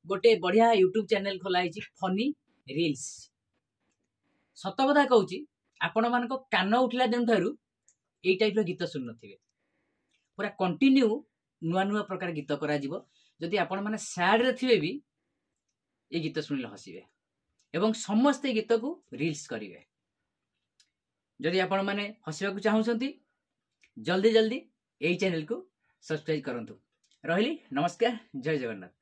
ଗୋଟେ ବଢ଼ିଆ YouTube channel ଖୋଲା ହେଇଛି, ଫନି ରିଲ୍ସ। ସତ କଥା କହୁଛି, ଆପଣମାନଙ୍କ କାନ ଉଠିଲା ଦିନଠାରୁ ଏଇ ଟାଇପ୍ର ଗୀତ ଶୁଣିନଥିବେ। ପୁରା କଣ୍ଟିନ୍ୟୁ ନୂଆ ନୂଆ ପ୍ରକାର ଗୀତ କରାଯିବ। ଯଦି ଆପଣମାନେ ସ୍ୟାଡ଼ରେ ଥିବେ ବି ଏ ଗୀତ ଶୁଣିଲେ ହସିବେ ଏବଂ ସମସ୍ତେ ଏ ଗୀତକୁ ରିଲ୍ସ କରିବେ। ଯଦି ଆପଣମାନେ ହସିବାକୁ ଚାହୁଁଛନ୍ତି, ଜଲ୍ଦି ଜଲ୍ଦି ଏଇ ଚ୍ୟାନେଲକୁ ସବସ୍କ୍ରାଇବ୍ କରନ୍ତୁ। ରହିଲି, ନମସ୍କାର, ଜୟ ଜଗନ୍ନାଥ।